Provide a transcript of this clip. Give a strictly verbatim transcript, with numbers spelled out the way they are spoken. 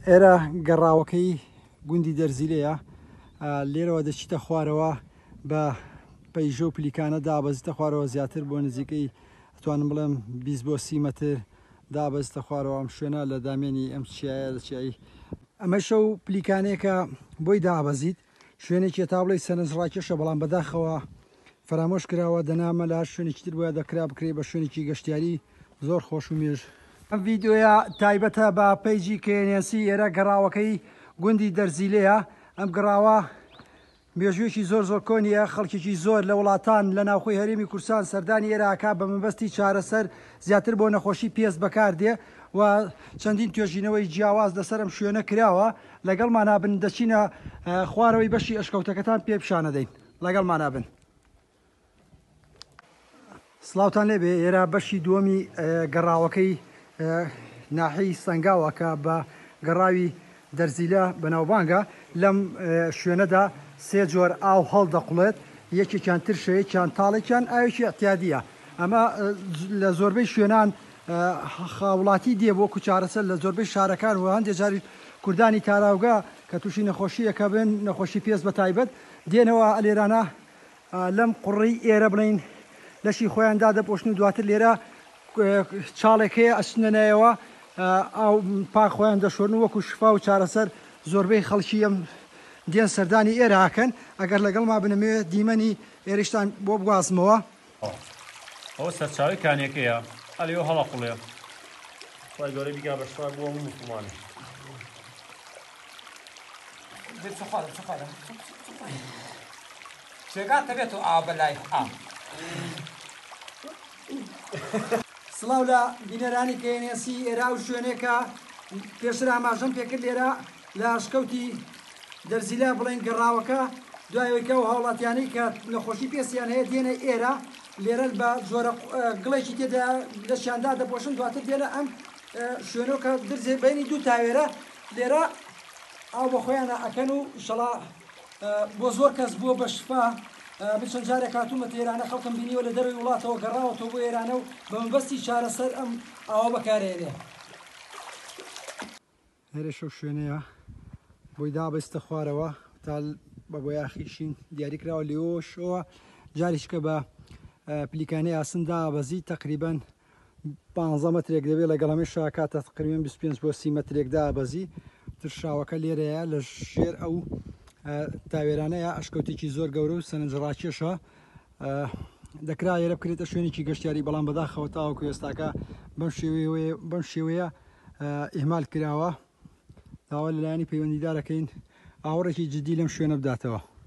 ئێرە گەڕاوەکەی گوندی دەرزیلەیە. لێرەوە دەچیتە خوارەوە بە پەیژە و پلیکانە دابەزیتە خوارەوە، زیاتر بۆ نزیکەی ئەتوانم بڵێم بیست بۆ سی مەتر دابەزیتە خوارەوە. ئەم شوێنە لە دامێنی ئەم چیایە لە چیایی ئەمەشە و پلیکانەیەکە بۆی دابەزیت، شوێنێکی تا بڵێی سەرنج ڕاکێشە، بەڵام بەداخەوە فەرامۆش کراوە. دەنامە لە هەر شوێنێکی تر بۆیە دەکرا بکرێ بە شوێنێکی گەشتیاری زۆر خۆش و مێژ. ئەم ڤیدیۆیە تایبەتە بە پەیجی کێنێسی. ئێرە گەڕاوەکەی گوندی دەرزیلەیە. ئەم گەڕاوە مێژوویەکی زۆر زۆر کۆنیە، خەڵکێکی زۆر لە وڵاتان لە ناوخۆی هەرێمی کوردستان سەردانی ئێراکا بە مەبەستی چارەسەر زیاتر بۆ نەخۆشی پێست بەکاردێ و چەندین توێژینەوەی جیاواز لەسەر ئەم شوێنە کراوە. لەگەڵمانا بن دەچینە خوارەوەی بەشی ئەشکەوتەکەتان پێ پیشانەدەین. لەگەڵمانا بن. سڵاوتان لێبێ. ئێرە بەشی دووەمی گەڕاوەکەی ناحیەی سەنگاوە کە بە گەڕاوی دەرزیلە بەناوبانگە. لەم شوێنەدا سێ جۆر ئاو هەڵدەقوڵێت، یەکێکیان ترشە، یەکیان تاڵێکیان ئاوێکی اعتیادیە. ئەمە لە زۆربەی شوێنان خاوڵاتی دێ وەکو چارەسەر لە زۆربەی شارەکان و هەندێک جاری کوردانی تاراوگە کە تووشی نەخۆشیەکە بن، نەخۆشی پێست بە تایبەت، دێنەوە لێرانە لەم قوڕی ئێرە بڵین لەشی خۆیان دادەپۆشن و دواتر لێرە چاڵێک هەیە ئەچنە نایەوە ئاو پاک خۆیان دەشۆرن وەکو شفا و چارەسەر. زۆربەی خەڵکی ئەم دێن سەردانی ئێرە ئەکەن. ئەگەر لەگەڵما بنەمەوێت دیمەنی ئێرەشتان بۆ بگوازمەوە. ئەوە سەرچاوی کانیەکەیە، ئەلێ هەڵە قوڵێ. خوای گەورە بیکا بە شفا بۆ هەموو موسڵمانێ. جێگاتە بێت و ئاو بەلای ئاو. سڵاو لە بینەرانی کێنێسی. ئێرە ئەو شوێنێکە پێشتر ئاماژەم پێکرد، لێرە لە ئەشکەوتی دەرزیلە بڵێن گەڕاوەکە دوایەوەی کە ئەو هاوڵاتیانەی کە نەخۆشی پێستیان هەیە دێنە ئێرە، لێرە بە جۆرە گڵێکی تێدا لەشیاندا دەپۆشن، دواتر دێنە ئەم شوێنەوە کە درزێ بینی دوو تاوێرە، لێرە ئاو بە خۆیانە ئەکەن و ئیشەڵا بۆ زۆر کەس بووە بە شفا. من چەند جارێک هاتوومەتە ئێرانە، خەڵکم بینیوە لە دەرەوەی وڵاتەوە گەڕاوەتەوە بۆ ئێرانە و بە مەبەستی چارەسەر ئەم ئاوە بەکارهێنێ. هێرش ئەو شوێنەیە بۆی دابەستە خوارەوە تا بە بۆیاخی شین دیاری کراوە. لێوەشەوە جاریشکە بە پلیکانەی ئاسن دابەزی تقریباً پانزە مەترێک دەبێت، لەگەڵ هەمێشە کاتە تقریباً بیست و پێنج بۆ سی مەترێک دابەزی. ترشاوەکە لێرەیە لە ژێر ئەو تاوێرانەیە، ئەشکەوتێکی زۆر گەورە و سەرنجڕاکێشە. دەکرا ئێرە بکرێتە شوێنێکی گەشتیاری، بەڵام بەداخەوە تاوەکو ئێستاکە بەم شێوەیە، بەم شێوەیە ئیهمال کراوە. داوا لەلایەنی پەیوەندیدارەکەین ئاوڕێکی جدی لەم شوێنە بداتەوە.